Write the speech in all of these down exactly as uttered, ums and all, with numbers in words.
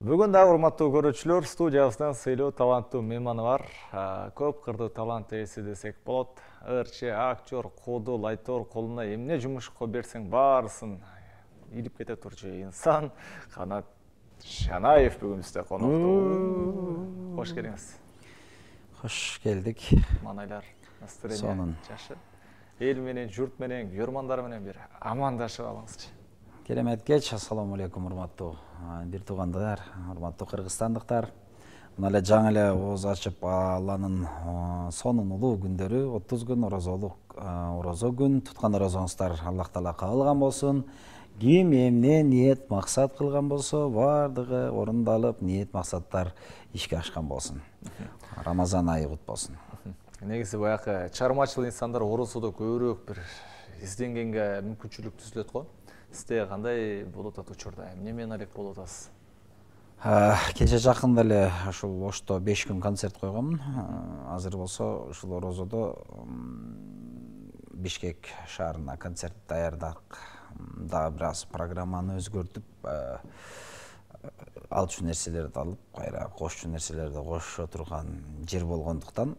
Бүгүн дагы урматтуу көрүүчүлөр, студиябызда сыйлуу таланттуу мейманы бар. Көп кырдуу талант ээси десек болот. Ырчы, актер, кудул, айтор колуна эмне жумушко берсең баарысын илип кете турчу инсан Канат Шанаев бүгүн бизде конокто. Кош келиңиз. Хош келдик. Манайлар настроение жакшы. Эл менен, журт менен, көрмандар менен бир амандашып алыңызчы. Керемет кеч, ассаламу алейкум урматтуу бир туугандар, урматтуу кыргызстандыктар. Мына эле жаңы эле ооз ачып Алланын сонун улуу күндөрү, отуз күн орозолук орозо күн туткан орозоңуздар Аллах Таала кабыл кылган болсун. Ким эмне ниет максат кылган болсо, бардыгы орундалып, ниет максаттар ишке ашкан болсун. Рамазан айы кут болсун. Негизи баягы чармачыл инсандар орозодо көбүрөөк бир изденгенге мүмкүнчүлүк түзүлөт го. Сизде кандай болот атат учурда? Эмне менен алек болот атасыз? Кече жакында эле ушул Ошто беш күн концерт койгонмун. Азыр болсо ушул орозодо Бишкек шаарына концерт даярдак. Дагы бир аз программаны өзгөртүп, алчу нерселерди алып, кайра кошчу нерселерди кошо турган жер болгондуктан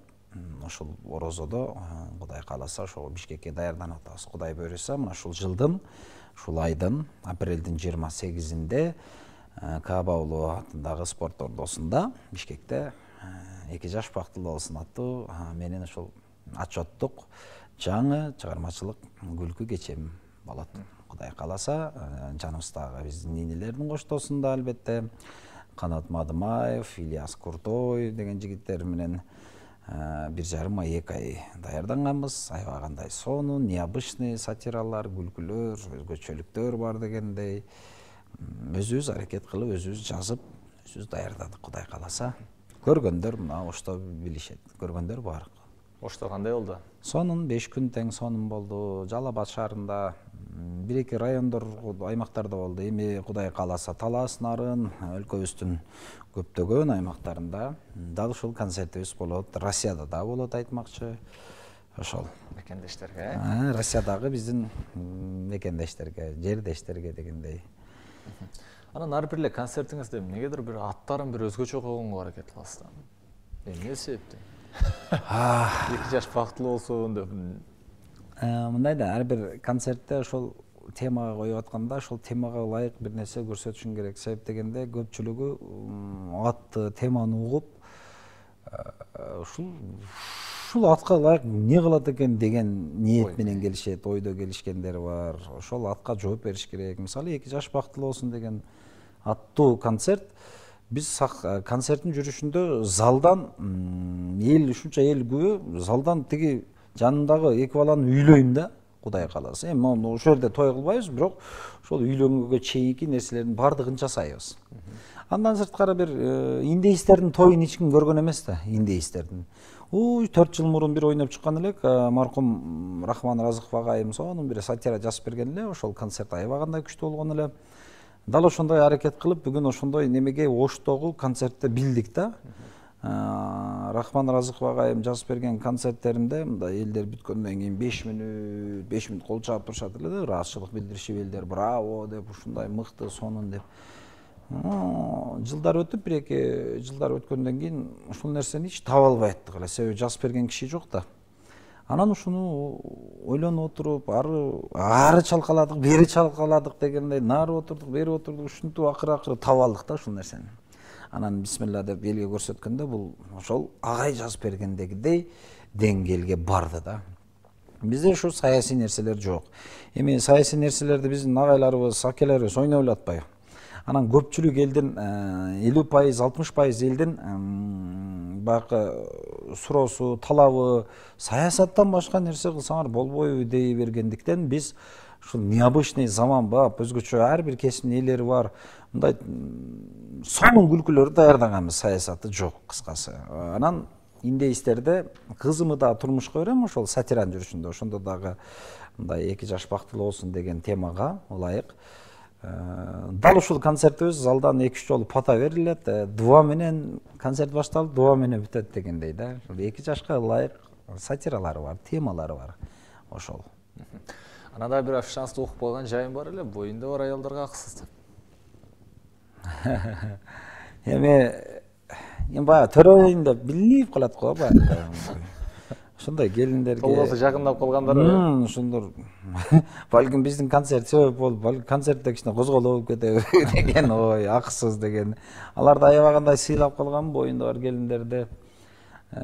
ушул орозодо Кудай кааласа ошо Бишкекке даярданып атабыз. Кудай буйруса, мына ушул жылдын ушул айдын апрелдин жыйырма сегизинде Кааба уулу атындагы спорт ордосунда Бишкекте эки жаш бактылуу болсун аттуу менин ушул отчеттук жаңы чыгармачылык күлкү кечем болот. Кудай кааласа, жаныбыздагы биздин нинелердин коштоосунда албетте Канат Мадымаев, Ильяс Куртой деген жигиттер менен бир жарым ай, эки ай даярданганбыз. Аябагандай сонун, необычный сатиралар, күлкүлөр, өзгөчөлүктөр бар дегендей. Өзүбүз аракет кылып, өзүбүз жазып, өзүбүз даярдадык, Кудай кааласа. Көргөндөр мына Ошто билишет. Көргөндөр бар. Ошто кандай болду? Сонун, беш күн тең сонун болду. Жалал Абад шаарында бир-эки райондор, аймактарда болду. Эми Кудай кааласа Талас, Нарын, өлкөбүздүн көптөгөн аймактарында дал ушул концертибиз болот. Россияда да болот айтмакчы. Ошол мекендештерге, Россиядагы биздин мекендештерге, жердештерге дегендей. Анан ар бир эле концертиңизде эмнегедир бир аттарын бир өзгөчө койгонго аракет кыласыз да. Эмне себептен? Эки жаш бактылуу болсун деп. Мындай да, ар бир концертте ошол темага коюп атканда, ошол темага ылайык бир нерсе көрсөтүшүң керек. Себеп дегенде көпчүлүгү атты, теманы угуп, ушул ушул атка ылайык эмне кылат экен деген ниет менен келишет, ойдо келишкендер бар. Ошол атка жооп бериш керек. Мисалы, эки жаш бактылуу болсун деген аттуу концерт. Биз концерттин жүрүшүндө залдан эл ушунча эл күбө, залдан тиги жанындагы эки баланы үйлөйм да, Кудай кааласа. Эми ошол жерде той кылбайбыз, бирок ошол үйлөнгөнгө чейинки нерселердин бардыгын жасайбыз. Андан сырткары бир индейстердин тоюн эч ким көргөн эмес да, индейстердин. Ой, төрт жыл мурун бир ойноп чыккан элек, маркум Рахман Разыков агайым сонун бир сатира жазып берген эле, ошол концерт аябагандай күчтүү болгон эле. Дал ошондой аракет кылып, бүгүн ошондой немеге Оштогу концертте билдик да. Рахман Разыков агайым жазып берген концерттеринде мындай элдер бүткөндөн кийин беш мүнөт, беш мүнөт кол чаап турушат эле да, ыраазычылык билдиришип элдер браво деп, ушундай мыкты, сонун деп. Жылдар өтүп, бир-эки жылдар өткөндөн кийин ушул нерсени эч таба албай аттык эле, себеби жазып берген киши жок да. Анан ушуну ойлонуп отуруп, ары ары чалкаладык, бери чалкаладык дегендей, нары отурдук, бери отурдук, ушинтип акыры-акыры таба алдык да ушул нерсени. Анан бисмилла деп элге көрсөткөндө бул ошол агай жазып бергендегидей деңгээлге барды да. Бизде ушу саясий нерселер жок. Эми саясий нерселерди биздин агайларыбыз, акелерибиз ойноп эле атпайбы. Анан көпчүлүк элдин элүү пайыз, алтымыш пайыз элдин баягы суроосу, талабы саясаттан башка нерсе кылсаңар болбойбу дей бергендиктен биз ушул необычный заман бап, өзгөчө ар бир кесиптин ээлери бар, мындай сонун күлкүлөрдү даярдаганбыз, саясаты жок кыскасы. Анан индейстерде кызымы да турмушка берем ошол сатиранын жүрүшүндө, ошондо дагы мындай эки жаш бактылуу болсун деген темага ылайык. Дал ушул концертибиз залдан эки үч жолу пата берилет, дуа менен концерт башталып, дуа менен бүтөт дегендей да. эки жашка ылайык сатиралары бар, темалары бар ошол. Анада бир афишаңызды окуп койгон жайым бар эле, боюнда бар аялдарга аксыз деп. эми эми баягы төрөйүн деп билинип калат го баягы. Ошондой келиндерге толгосу жакындап калгандар ошондор балким биздин концерт себеп болуп, балким концертте кичине козголоп кетеби деген ой, акысыз деген. Аларды аябагандай сыйлап калгам боюнда бар келиндерди.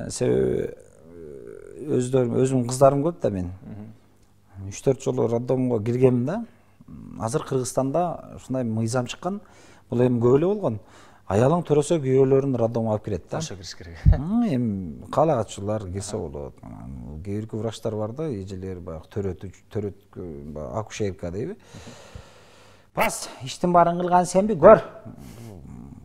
Себеби өздөрүм, өзүмдүн кыздарым көп да мен. үч төрт жолу роддомго киргем да. Азыр Кыргызстанда ушундай мыйзам чыккан. Бул эми көп эле болгон. Аялың төрөсө күйөөлөрүн роддомго алып кирет да. Ошо кириш керек. Эми каалагатчылар кирсе болот. Кээ бирки врачтар бар да, эжелер баягы төрөтүч, төрөт, акушерка дейби. Бас, иштин баарын кылган сенби, көр.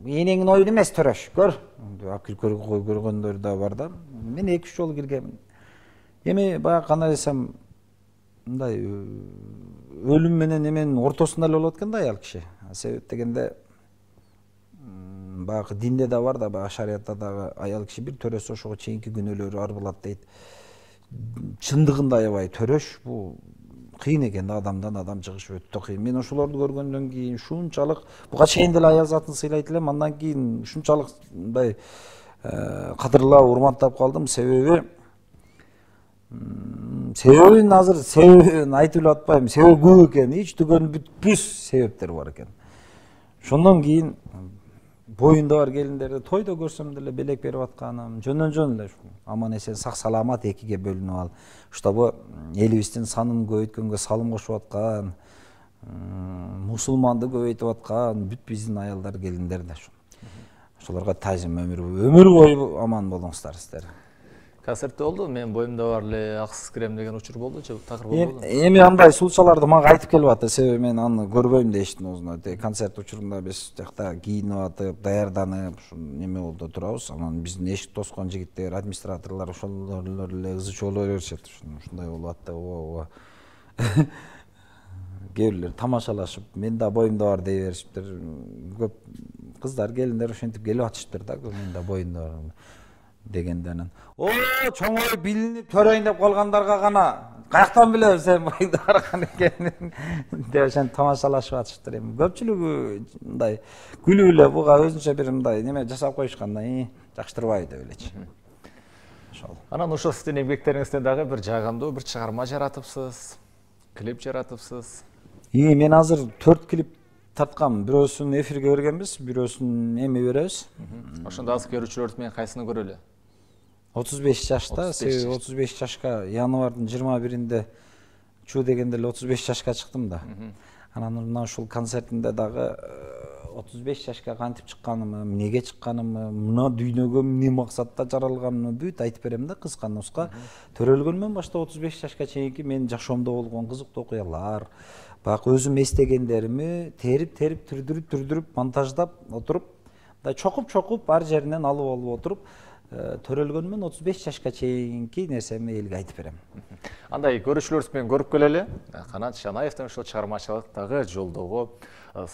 Энеңин оюн эмес төрөш, көр. Алып кирип көргөндөр да бар да. Мен эки үч жолу киргем. Эми баягы кандай десем, мындай өлүм менен эменин ортосунда эле болот экен да аял киши. Себеп дегенде баягы динде да бар да, баягы шариятта дагы аял киши бир төрөсө ошого чейинки күнөөлөрү арбылат дейт. Чындыгында аябай төрөш бул кыйын экен да, адамдан адам чыгыш өтө кыйын. Мен ошолорду көргөндөн кийин ушунчалык буга чейин деле аял затын сыйлайт элем, андан кийин ушунчалык мындай кадырлап, урматтап калдым. Себеби себебин азыр себебин айтып эле атпайм. Себеби көп экен, эч түгөн бүтпүс себептер бар экен. Ошондон кийин боюнда бар келиндерди тойдо көрсөм деле белек берип атканым, жөндөн жөн эле аман эсен сак саламат экиге бөлүнүп алып, чтобы элибиздин санын көбөйткөнгө салым кошуп аткан, мусулманды көбөйтүп аткан бүт биздин аялдар, келиндер да ошо. Ошолорго таазим, өмүр өмүр бою аман болуңуздар сиздер. Концертте болду, мен боюмда бар эле аксыз кирем деген учур болду же такыр болду? Эми андай сулчаларды мага айтып келип атты, себеби мен аны көрбөйм дештин өзүнө. Концерт учурунда биз жакта кийинип атып, даярданып, ушу неме болду турабыз. Анан биздин эшик тоскон жигиттер, администраторлор ошолор эле ызы чуу боло беришет. Ушундай болуп атты, ооба. Кээ бирлер тамашалашып, мен да боюмда бар дей беришиптир. Көп кыздар, келиндер ошентип келип атышыптыр да, мен да боюмда бар дегенден. О, чоңой билинип төрөйүн деп калгандарга гана каяктан билебиз сен боюңда барган экенин деп ошентип тамашалашып атышыптыр. Эми көпчүлүгү мындай күлүп эле буга өзүнчө бир мындай неме жасап коюшкан, жакштырбайбы деп элечи. Ошол. Анан ошол сиздин эмгектериңизден дагы бир жагымдуу бир чыгарма жаратыпсыз, клип жаратыпсыз. И мен азыр төрт клип тарткам. Бирөөсүн эфирге бергенбиз, бирөөсүн эми беребиз. Ошондо азыр көрүүчүлөрүбүз менен кайсыны көрөлү? отуз беш жашта, себеби отуз беш жашка январдын жыйырма биринде чуу дегенде эле отуз беш жашка чыктым да. Анан мына ушул концертинде дагы отуз беш жашка кантип чыкканымы, эмнеге чыкканымы, мына дүйнөгө эмне максатта жаралганымы бүт айтып берем да, кыска нуска. Төрөлгөндөн баштап отуз беш жашка чейинки менин жашоомдо болгон кызыктуу окуялар, баягы өзүм эстегендерими терип-терип, түрдүрүп, түрдүрүп, монтаждап отуруп, мындай чокуп-чокуп ар жеринен алып алып отуруп, төрөлгөнмөн отуз беш жашка чейинки нерсемди элге айтып берем. Андай көрүүчүлөрүбүз менен көрүп келели. Канат Шанаевдин ошол чыгармачылыктагы жолдогу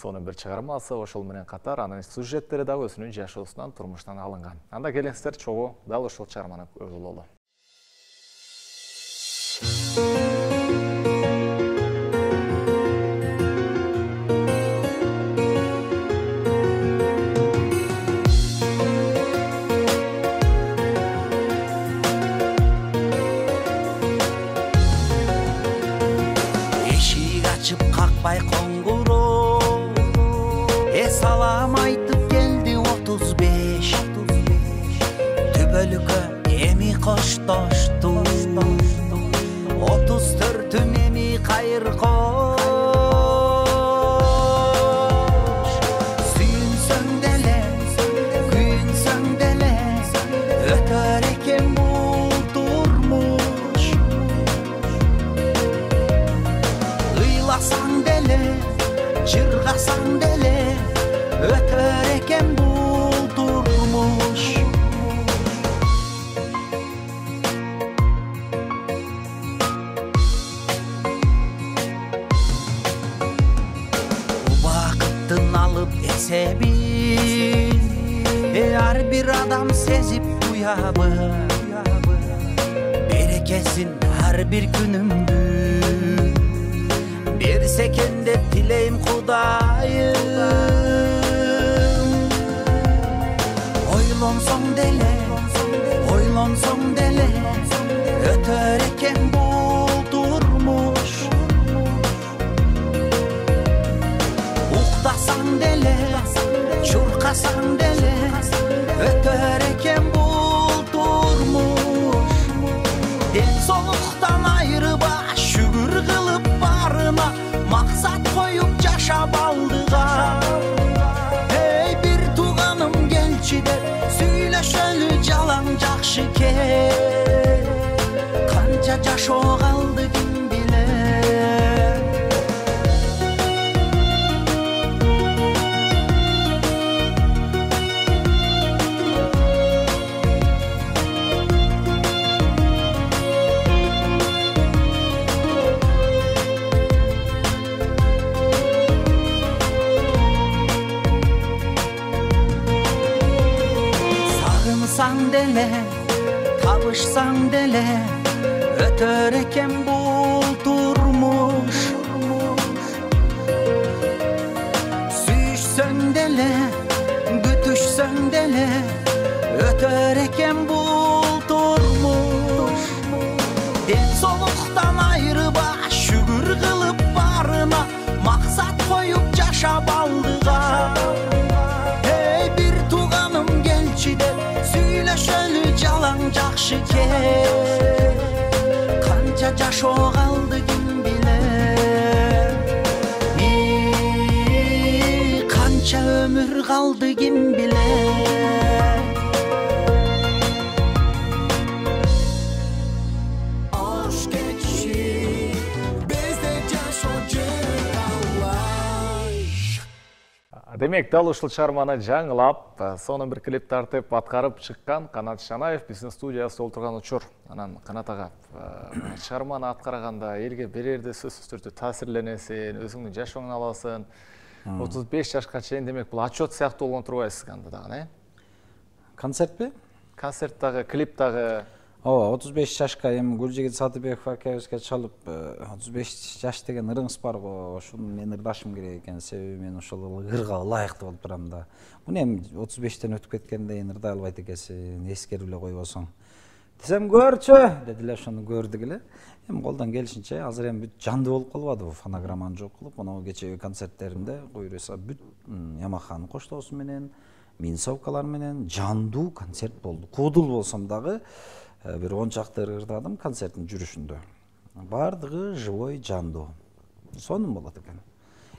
сонун бир чыгармасы, ошол менен катар анын сюжеттери дагы өзүнүн жашоосунан, турмуштан алынган. Анда келиңиздер чогуу дал ошол чыгарманы көрүп алалы. Какпай коңгуроо эс алам айтып келди отуз беш түбөлүккө эми коштошту отуз төртүм эми кайыр кош сүйүнсөң деле күйүнсөң деле өтөр экен бул турмуш ыйласаң чыргасаң деле өтөр экен бул турмуш убакыттын алып эсебин ар бир адам сезип уябы берекесин ар бир күнүмдү берсекен деп тилейм Кудайым деле, ойлонсоң деле, өтөр экен бул турмуш. Уктасаң деле, чуркасаң деле, өтөр экен бул турмуш. Ден соолуктан айрыба, шүгүр кылып барына, максат коюп жашап алдыга. Эй бир тууганым келчи деп, сүйлөшөлү жалаң жакшы ке. Канча жашоо калды ким билет. Сагынсаң деле, табышсаң деле, өтөр экен бул турмуш. Сүйүшсөң деле, күтүшсөң деле, өтөр экен бул турмуш. Ден соолуктан айрыба, шүгүр кылып барына, максат коюп жашап алдыга. Эй бир тууганым келчи деп, сүйлөшөлү жалаң жакшы ке. Канча жашоо калды ким билет. Канча өмүр калды ким билет. Ош кетиши бизде жашоочу талаш. Демек, дал ушул чыгарманы жаңылап, сонун бир клип тартып аткарып чыккан Канат Шанаев биздин студияда отурган учур. Анан Канат ага, чыгарманы аткарганда элге берерде сөзсүз түрдө таасирленесиң, өзүңдүн жашооңду аласың. отуз беш жашка чейин демек бул отчет сыяктуу болгон турбайсыз анда дагы, э? Концертпи? Концерт дагы, клип дагы. Ооба, отуз беш жашка эми Гүлжигит Сатыбеков акебизге чалып, отуз беш жаш деген ырыңыз бар го, ошону мен ырдашым керек экен, себеби мен ошол ырга ылайыктуу болуп турам да. Муну эми отуз бештен өтүп кеткенден кийин ырдай албайт экенсиң, эскерип эле койбосоң. Десем көрчү, дедилер, ошону көрдүк эле. Эми колдон келишинче, азыр эми бүт жандуу болуп калбадыбы, фонограмманы жок кылып, мына кечеги концерттеримде буюрса бүт Ямаханын коштоосу менен, минсовкалар менен жандуу концерт болду. Куудул болсом дагы бир он чакты ырдадым концерттин жүрүшүндө. Бардыгы живой, жандуу. Сонун болот экен.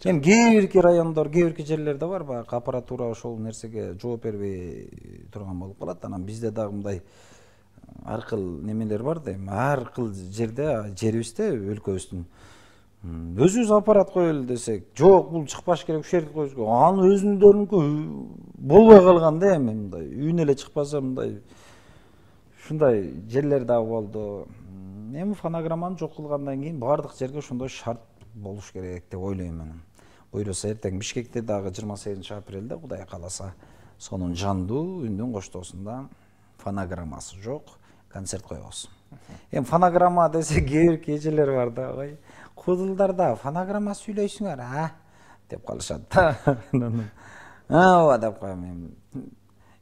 Эми кээ бирки райондор, кээ бирки жерлерде бар, баягы аппаратура ошол нерсеге жооп бербей турган болуп калат. Анан бизде дагы мындай ар кыл немелер бар да, эми ар кыл жерде, жерибизде, өлкөбүздүн өзүбүз аппарат коелу десек, жок, бул чыкпаш керек, ушул жерге коюш керек. Анын өзүндөрүнкү болбой калган да, эми мындай үйүнө эле чыкпаса мындай ушундай жерлер дагы болду. Эми фонограмманы жок кылгандан кийин бардык жерге ошондой шарт болуш керек деп ойлойм мен. Буюрса эртең Бишкекте дагы жыйырма сегизинчи апрелде Кудай кааласа сонун жандуу үндүн коштоосунда фонограммасы жок концерт коебуз. Эми фонограмма десе кээ бирки эжелер бар да, ой, кудулдарда фонограмма сүйлөйсүңөр, а? деп калышат да. Ооба деп коем эми.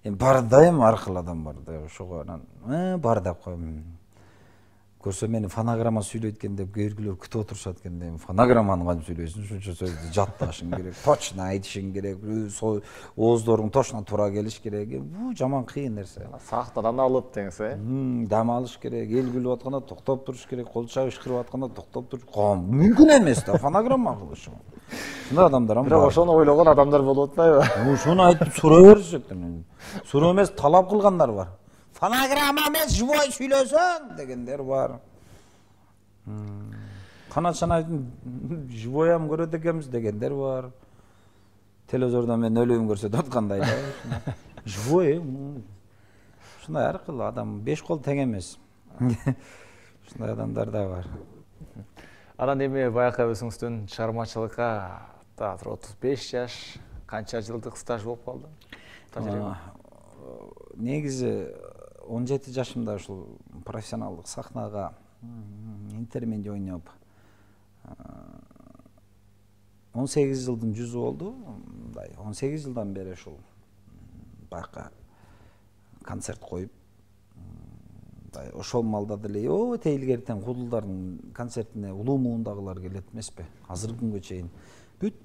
Эми бар да, эми ар кыл адам бар да, ошого анан бар деп коем. Көрсө мени фонограмма сүйлөйт экен деп кээ биркилер күтүп отурушат экен да, эми фонограмманы кантип сүйлөйсүң, ушунча сөздү жатташың керек, точно айтышың керек, ооздоруң точно туура келиш керек. Бул жаман кыйын нерсе. Сактан алып деңиз, э? Дам алыш керек, эл күлүп атканда токтоп туруш керек, кол чабыш кырып атканда токтоп туруш. Мүмкүн эмес да фонограмма кылыш. Ушундай адамдар бар. Бирок ошону ойлогон адамдар болуп атпайбы? Ошону айтып сурай беришет. Суроо эмес, талап кылгандар бар. Фонограмма эмес, живой сүйлөсөң дегендер бар. Канат Шанаевдин живоям көрөт экенбиз дегендер бар. Телевизордон мен өлүм көрсөтүп аткандай да. Живой, ушундай ар кыл адам, беш кол тең эмес. Ушундай адамдар да бар. Анан эми баягы өзүңүздүн чыгармачылыкка театр отуз беш жаш, канча жылдык стаж болуп калды? Негизи он жети жашымда ушул профессионалдык сахнага интермеди ойноп он сегиз жылдын жүзү болду. Мындай он сегиз жылдан бери ушул бака концерт коюп, мындай ошол малда деле өтө илгертен кудулдардын концертине улуу муундагылар келет эмеспи? Азыркы күнгө чейин бүт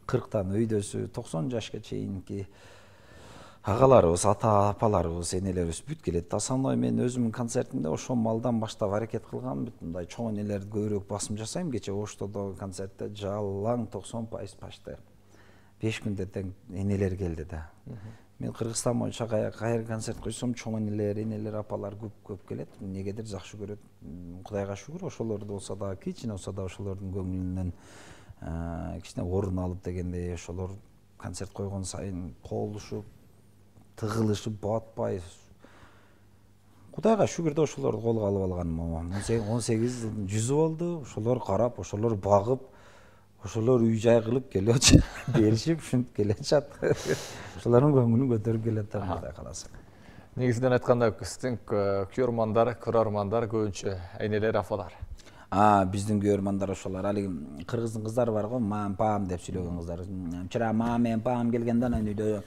кырктан өйдөсү, токсон жашка чейинки агаларыбыз, ата апаларыбыз, энелерибиз бүт келет. Основной мен өзүмдүн концертимде ошол малдан баштап аракет кылгам, бүт мындай чоң энелерди көбүрөөк басым жасайм. Кече Оштодогу концертте жалаң токсон пайыз почти беш күндө тең энелер келди да. Мен Кыргызстан боюнча кайер концерт койсом чоң энелер, энелер, апалар көп көп келет. Негедир жакшы көрөт. Кудайга шүгүр, ошолорду болсо да, кичине болсо да ошолордун көңүлүнөн кичине орун алып дегендей, ошолор концерт койгон сайын колушуп, тыгылышып, батпай. Кудайга шүгүр да ошолорду колго алып алганым. он сегиз жылдын жүзү болду. Ошолор карап, ошолор багып, ошолор үй жай кылып келип беришип, ушинтип келешат. Ошолордун көңүлүн көтөрүп келет да, Кудай кааласа. Негизинен айтканда сиздин көрөрмандар, көрөрмандар көбүнчө энелер, апалар. А, биздин көрөрмандар ошолор. Али кыргыздын кыздары бар го, мам, пам деп сүйлөгөн кыздар. Вчера мама менен пам келгенде анан үйдө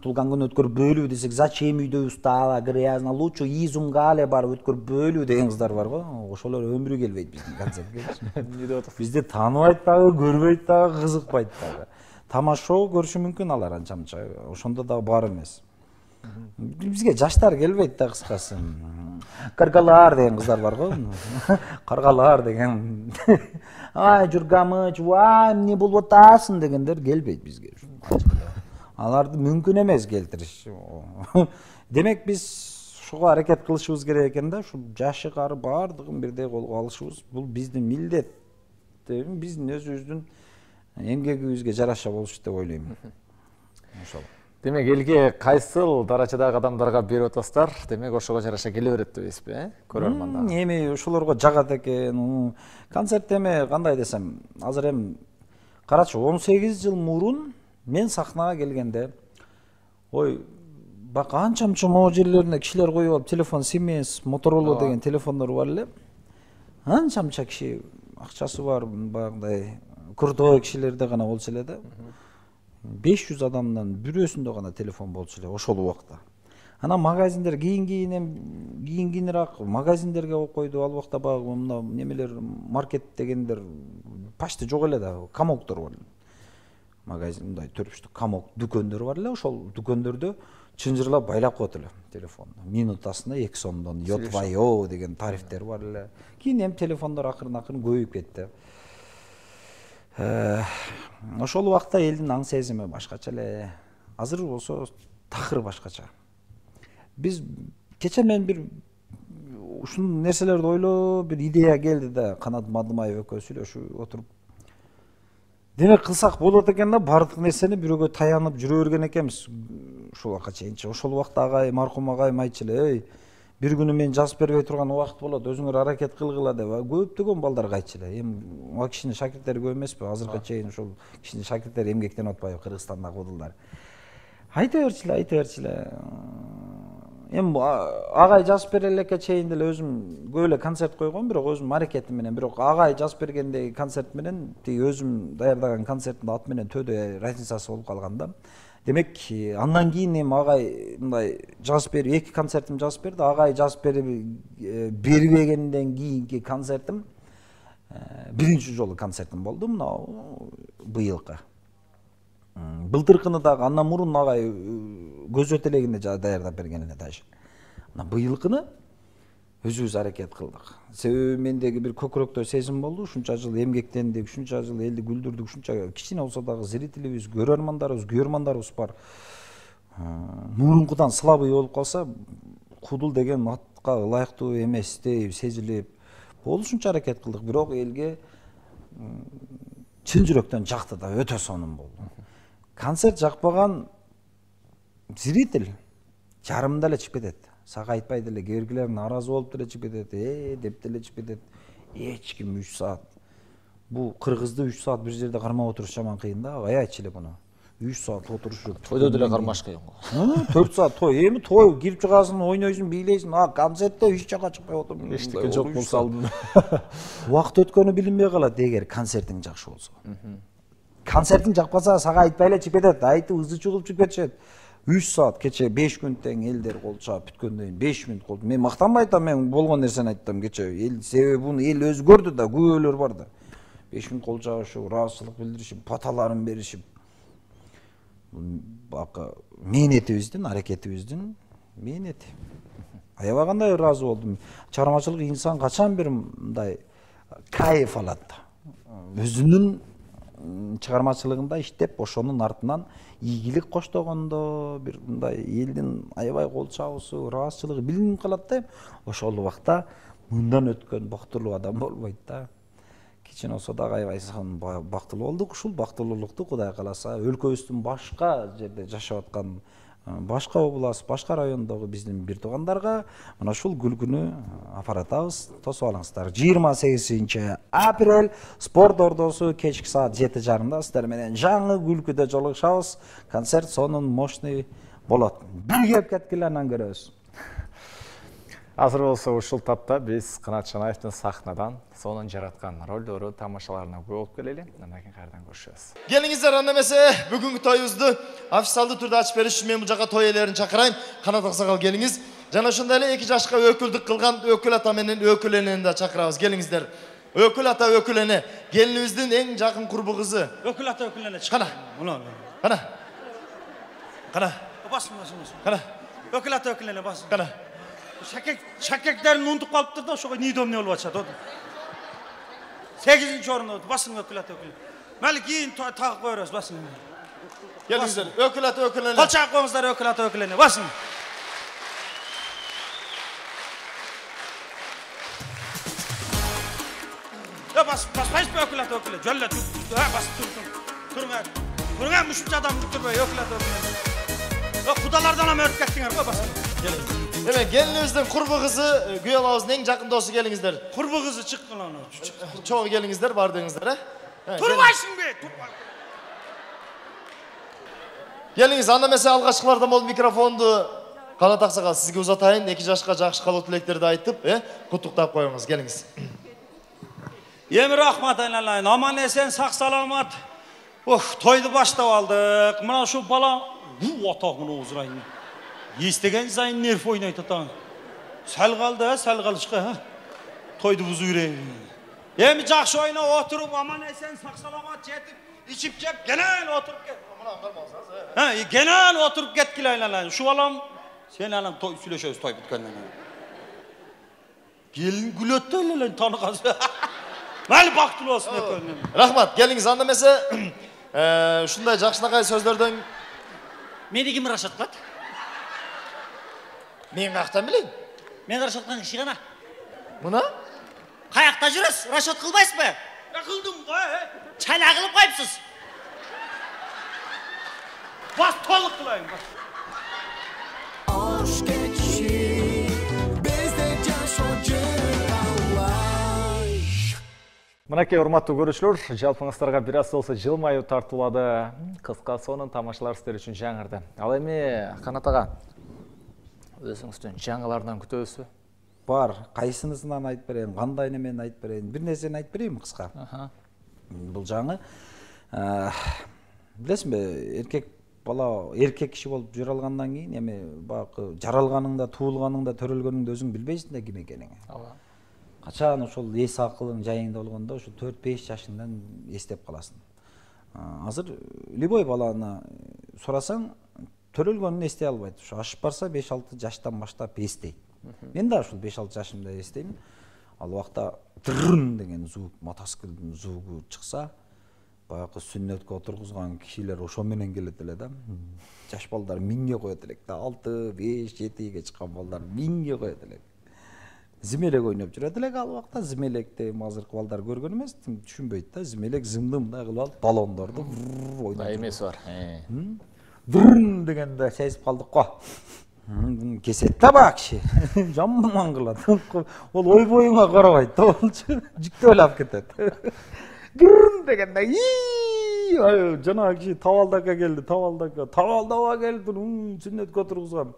тулган күн өткөрүп бөлүү десек, зачем үйдө устала, грязно, лучше изумгале бар өткөрүп бөлүү деген кыздар бар го. Ошолор өмүрү келбейт биздин концертке. Эмне деп атасыз? Бизди тааныбайт дагы, көрбөйт дагы, кызыкпайт дагы. Тамашо көрүшү мүмкүн алар анча-мынча. Ошондо дагы бар эмес. Бизге жаштар келбейт да, кыскасы. Каргалар деген кыздар бар го. Каргалар деген. Ай, жургамыч, вай, эмне болуп атасың дегендер келбейт бизге. Аларды мүмкүн эмес келтириш. Демек биз ушуга аракет кылышыбыз керек экен да, ушу жашы кары бардыгын бирдей колго алышыбыз бул биздин милдет. Биздин өзүбүздүн эмгегибизге жараша болуш деп ойлойм. Ошол. Демек элге кайсыл даражадагы адамдарга берип атасыздар, демек ошого жараша келе берет дебейсизби, э? Көрөрмандар. Эми ошолорго жагат экен. Концерт эме кандай десем, азыр эми карачы он сегиз жыл мурун мен сахнага келгенде, ой, бак анча-мынча могу жерлерине кишилер коюп алып, телефон Siemens, Motorola деген телефондор бар эле. Анча-мынча киши акчасы бар, багындай крутой кишилерде гана болчу эле да. беш жүз адамдан бирөөсүндө гана телефон болчу эле ошол убакта. Анан магазиндер кийин-кийин кийин-кийинирээк магазиндерге коюп койду. Ал убакта багы мына немелер, маркет дегендер почти жок эле да, камоктор бар. Магазин мындай төрүштүк камок дүкөндөр бар эле, ошол дүкөндөрдө чынжырлап байлап коет эле телефонду. Минутасына эки сомдон йотвайо деген тарифтер бар эле. Кийин эми телефондор акырын-акырын көбөйүп кетти. Ошол убакта элдин аң сезими башкача эле. Азыр болсо такыр башкача. Биз кече мен бир ушул нерселерди ойлоп, бир идея келди да, Канат Мадымаев экөө сүйлөшүп отуруп. Демек кылсак болот экен да, бардык нерсени бирөөгө таянып жүрө берген экенбиз ушул убакка чейинчи. Ошол убакта агай, маркум агайым айтчу эле, эй, бир күнү мен жазып бербей турган убакыт болот, өзүңөр аракет кылгыла деп. Көптөгөн балдарга айтчу эле. Эми ага кишинин шакирттери көп эмеспи? Азыркы чейин ошол кишинин шакирттери эмгектенип атпайбы Кыргызстандагы кудулдар? Айта берчү эле, айта берчү эле. Эми агай жазып бере элекке чейин деле өзүм көп эле концерт койгом, бирок өзүм аракетим менен, бирок агай жазып бергендеги концерт менен тиги өзүм даярдаган концерттин аты менен төдө разницасы болуп калган да. Демек, андан кийин эми агай мындай жазып берип, эки концертим жазып берди. Агай жазып бербегенден кийинки концертим биринчи жолу концертим болду, мына быйылкы. Былтыркыны дагы андан мурун агай көзөт элегинде даярдап берген эле даже. Мына быйылкыны өзүбүз аракет кылдык. Себеби мендеги бир көкүрөктө сезим болду. Ушунча жыл эмгектендик, ушунча жыл элди күлдүрдүк, ушунча кичине болсо дагы зрителибиз, көрөрмандарыбыз, көрөрмандарыбыз бар. Мурункудан слабый болуп калса, кудул деген атка ылайыктуу эместей сезилип, болушунча аракет кылдык, бирок элге чын жүрөктөн жакты да, өтө сонун болду. Концерт жакпаган зритель жарымда эле чыгып кетет. Сага айтпай деле, кээ-биркилер нааразы болуп деле чыгып кетет, э деп деле чыгып кетет. Эч ким үч саат. Бул кыргызды үч саат бир жерде кармап отуруш жаман кыйын да. Ай айтчы эле буну. үч саат отурушуп. Тойдо деле кармаш кыйын го. төрт саат той. Эми той кирип чыгасың, ойнойсуң, бийлейсиң. А концертте эч жака чыкпай отуруп. Эчтеке жок болсо алдын. Убакыт өткөнү билинбей калат эгер концертиң жакшы болсо. Концертиң жакпаса, сага айтпай эле чыгып кетет. Айтып ызы чыгып чыгып кетишет. үч саат кече беш күн тең элдер кол чаап бүткөндөн кийин беш мүнөт кол. Мен мактанбай айтам, мен болгон нерсени айттым кече. Эл себеби буну эл өзгөрдү да, күбөлөр бар да. беш мүнөт кол чабышып, ыраазычылык билдиришип, баталарын беришип. Бака мээнетибиздин, аракетибиздин мээнети. Аябагандай ыраазы болдум. Чармачылык инсан качан бир мындай кайф алат да. Өзүнүн чыгармачылыгында иштеп, ошонун артынан ийгилик коштогондо бир мындай элдин аябай кол чабуусу, ыраазычылыгы билинип калат да. Ошол убакта мындан өткөн бактылуу адам болбойт да. Кичине болсо дагы аябай бактылуу болдук. Ушул бактылуулукту Кудай кааласа өлкөбүздүн башка жерде жашап аткан, башка област, башка райондогу биздин бир туугандарга мына ушул күлкүнү апаратабыз. Тосуп алыңыздар. жыйырма сегизинчи апрель спорт ордосу кечки саат жети жарымда сиздер менен жаңы күлкүдө жолугушабыз. Концерт сонун мощный болот. Бир кеп кеткиле, анан көрөбүз. Азыр болсо ушул тапта биз Канат Шанаевдин сахнадан сонун жараткан ролдору, тамашаларына күбө болуп келели. Андан кийин кайрадан көрүшөбүз. Келиңиздер, анда эмесе бүгүнкү тоюбузду официалдуу түрдө ачып бериш үчүн мен бул жака той ээлерин чакырайын. Канат Аксакал келиңиз. Жана ошондой эле эки жашка өкүлдүк кылган өкүл ата менен өкүл энени да чакырабыз. Келиңиздер. Өкүл ата өкүл эне, келинибиздин эң жакын курбу кызы. Өкүл ата өкүл эне. Кана. Мына. Кана. Кана. Басын, басын, басын. Кана. Өкүл ата өкүл эне басын. Кана. Шакек, шакектерин унутуп калыптыр да, ошого нидом не болуп атышат. сегизинчи орунда басын өкүл ата өкүл. Мали кийин тагып кое беребиз, басын. Келиңиздер. Өкүл ата өкүл эне. Кол чаап коюңуздар, өкүл ата өкүл эне, басын. Я бас, баспайсызбы өкүл ата өкүл эне? Жөллө тур, бас тур, тур. Турңар. Турңар мушунча адам турбай өкүл ата өкүл эне. Кудалардан ам өрүп кеттиңер го, басын. Келиңиздер. Эме келинибиздин курбу кызы, күйөөбүздүн эң жакын досу келиңиздер. Курбу кызы чыккан аны. Чогуу келиңиздер, бардыңыздар, э? Турбайсыңбы? Турбай. Келиңиз, анда эмесе алгачкылардан болуп микрофонду Канат Аксакал сизге узатайын. эки жашка жакшы калуу тилектерди айтып, э? Куттуктап коюңуз. Келиңиз. Эми рахмат айналайын. Аман эсен, сак саламат. Ох, тойду баштап алдык. Мына ушу бала, бу атагын озурайын. Естеген сайын нерв ойнайт атаң. Сәл калды, сәл калышка. Тойду бузуу керек. Эми жакшы ойноп отуруп, аман эсен, сак саламат жетип, ичип жеп, кенен отуруп кет. Мына кармаңыздар, э? Ha, genel oturup getkile aylanayın. Şu alam, sen alam toy süleşöz toy bitkenden. Gelin gülötte aylanayın tanı kazı. Mali baktılı olsun hep önüne. Rahmat, geliniz anda mesela şunday jakşınakay sözlerden... Meni kim Raşat kat? Men kayaktan bileyim? Men Raşat'tan kişi gana. Buna? Kayakta жүрөs, Raşat kılbayız mı? Ya kıldım koy. Çayla kılıp koyupsuz. Bas toluk kılayım bas. Aşk geçişi bizde жашоочу талай. Мынакей урматтуу көрүүчүлөр, жалпыңыздарга бир аз болсо жылмаюу тартуулады. Кыска сонун тамашалар сиздер үчүн жаңырды. Ал эми Канат ага, өзүңүздүн жаңылардан күтөбүзбү? Бар, кайсынысынан айтып берейин, кандай немен айтып берейин, бир нерсени айтып берейинби кыска? Бул жаңы билесиңби, эркек бала эркек киши болуп жүрө алгандан кийин эми баягы жаралганыңда, туулганыңда, төрөлгөнүңдө өзүң билбейсиң да ким экениңи. Ооба. Качан ошол эс акылың жайыңда болгондо ошо төрт беш жашыңдан эстеп каласың. Азыр любой баланы сурасаң, төрөлгөнүн эстей албайт. Ошо ашып барса беш алты жаштан баштап эстейт. Мен да ушул беш алты жашымда эстейм. Ал убакта дырын деген звук, мотоциклдин звугу чыкса, баягы сүннөткө отургузган кишилер ошо менен келет эле да. Жаш балдар миңге коет элек да, алты, беш, жетиге чыккан балдар миңге коет элек. Зимелек ойноп жүрөт элек ал убакта. Зимелекти азыркы балдар көргөн эмес, түшүнбөйт да. Зимелек зымдымдай кылып алып баллондорду ойноп. Да эмеси бар. Дырын дегенде сезип калдык го. Кесет да бак киши. Жаман кылат. Ол ой боюңа карабайт да, болчу. Жүктөп алып кетет. Дырын дегенде ий, жана киши табалдака келди, табалдака, табалдаба келди, сүннөткө отургузган.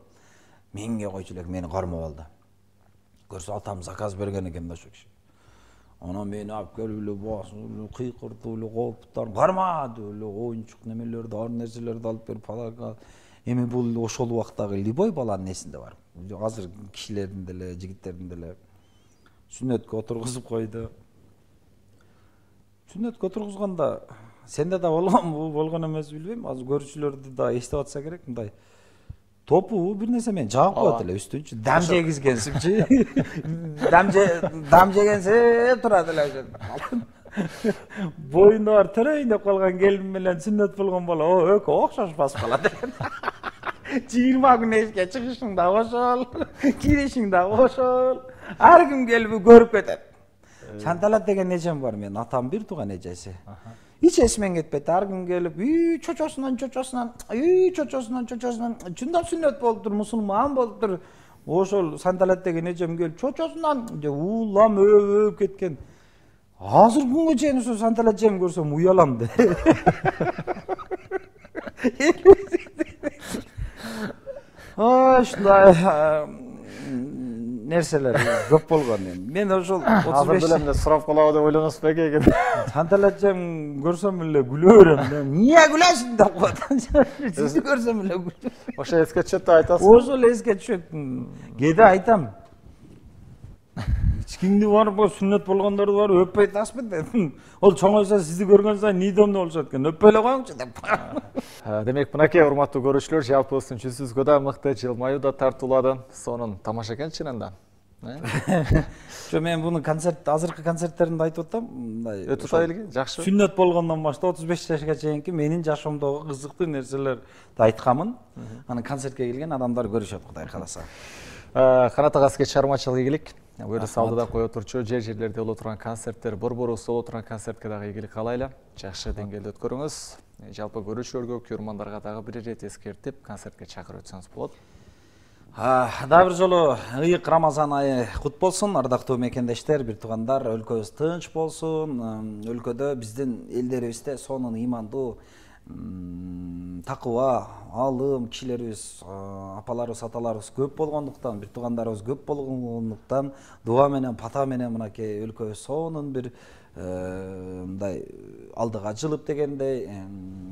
Миңге койчу элек мени кармап алды. Көрсө атам заказ берген экен да ошо киши. Ана мени алып келип эле басып, кыйкыртып эле, кооптор кармады эле, оюнчук немелерди, ар нерселерди алып берип, подарка. эми бул ошол убактагы любой баланын эсинде бар. Азыр кишилердин деле, жигиттердин деле сүннөткө отургузуп койду. Сүннөткө отургузганда сенде да болгонбу, болгон эмес билбейм. Азыр көрүүчүлөрдү да эстеп атса керек, мындай топу бир нерсе менен жаап коет эле үстүнчү. Дам жегизгенсимчи. Дам же дам жегенсе турат эле ошо. Боюнда бар төрөйүн деп калган келин менен сүннөт болгон бала экөө окшошпас калат экен. жыйырма күн эшикке чыгышың да ошол, киришиң да ошол. Ар ким келип көрүп кетет. Шанталат деген эжем бар, менин атам бир тууган эжеси. Hiç esmen ketpedi. Her gün gelip, "Üy, çoçosundan, çoçosundan, üy, çoçosundan, çoçosundan, çundap sünnet boluptur, musulman boluptur." Ошол sandalet деген эжем келип, "Çoçosundan," деп улам өп кеткен. Азыр күнгө чейин ошо sandalet жем көрсөм уялам да. Ой, ушундай нерселер көп болгон эми. Мен ошол Азыр деле эмне сурап калабы деп ойлоносуз беке экен. Sandalet жем көрсөм эле күлө берем. Эмне күлөсүң деп коет. Сизди көрсөм эле күлөм. Ошо эске түшөт деп айтасыз. Ошол эске түшөт. Кээде айтам. Ичкиңди барып, сүннөт болгондорду барып өппөй таспы деп. Ол чоңойсо сизди көргөн сайын нийдомдуу болушат экен. Өппөй эле коюңчу деп. Демек, мынакей урматтуу көрүүчүлөр, жалпыбыздын жүзүбүзгө да мыкты жылмаюу да тартуулады. Сонун тамаша экен чынында. Жо мен буну концерт, азыркы концерттеримде айтып атам, мындай өтүп ата элге, жакшы. Сүннөт болгондон баштап отуз беш жашка чейинки менин жашоомдогу кызыктуу нерселерди айтканмын. Анан концертке келген адамдар көрүшөт, Кудай кааласа. Канат ага, сизге чыгармачылык ийгилик. Өрүс алдыда кое турчу жер жерлерде боло турган концерттер, борборубуз боло турган концертке дагы ийгилик каалайлы. Жакшы деңгээлде өткөрүңүз. Жалпы көрүүчүлөргө, көрөрмандарга дагы бир ирет эскертип, концертке чакырып өтсөңүз болот. Дагы бир жолу ыйык Рамазан айы кут болсун, ардактуу мекендештер, бир туугандар, өлкөбүз тынч болсун. Өлкөдө биздин элдерибизде сонун ыймандуу, такыба, алым кишилерибиз, апаларыбыз, аталарыбыз көп болгондуктан, бир туугандарыбыз көп болгондуктан, дуа менен, пата менен мынакей өлкөбүз сонун бир мындай алдыга жылып дегендей,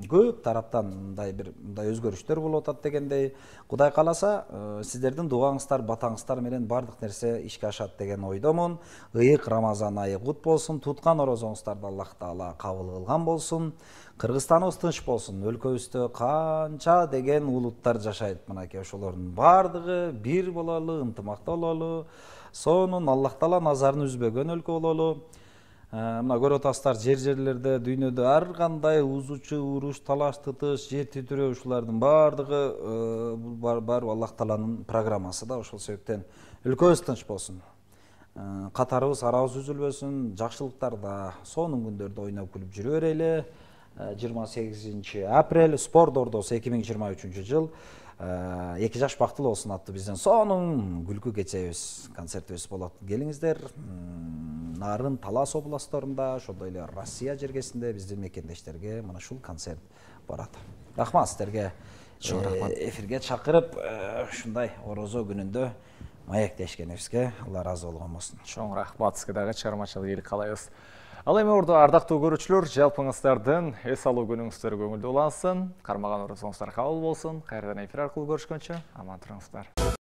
көп тараптан мындай бир мындай өзгөрүштөр болуп атат дегендей, Кудай кааласа, сиздердин дуаңыздар, батаңыздар менен бардык нерсе ишке ашат деген ойдомун. Ыйык Рамазан айы кут болсун, туткан орозоңуздарды Аллах Таала кабыл кылган болсун. Кыргызстаныбыз тынч болсун. Өлкөбүздө канча деген улуттар жашайт. Мынакей ошолордун бардыгы бир бололу, ынтымакта бололу. Сонун Аллах Таала назарын үзбөгөн өлкө бололу. Мына көрүп атасыздар, жер-жерлерде, дүйнөдө ар кандай узучу, уруш, талаш, тытыш, жер титирөө ушулардын бардыгы бул бар Аллах Тааланын программасы да. Ошол себептен өлкөбүз тынч болсун. Катарыбыз, арабыз үзүлбөсүн, жакшылыктарда, сонун күндөрдө ойноп күлүп жүрө берели. жыйырма сегизинчи апрель спорт ордосу эки миң жыйырма үчүнчү жыл эки жаш бактылуу болсун аттуу биздин сонун күлкү кечебиз, концертибиз болот. Келиңиздер. Нарын Талас областтарында, ошондой эле Россия жергесинде биздин мекендештерге мына ушул концерт барат. Рахмат сиздерге. Чоң рахмат. Эфирге чакырып, ушундай орозо күнүндө маектешкенибизге Алла ыраазы болгон болсун. Чоң рахмат, сизге дагы чыгармачылык ийгилик каалайбыз. Ал эми ордо ардактуу көрүүчүлөр, жалпыңыздардын эс алуу күнүңүздөр көңүлдүү улансын, кармаган орозоңуздар кабыл болсун. Кайрадан эфир аркылуу көрүшкөнчө аман туруңуздар.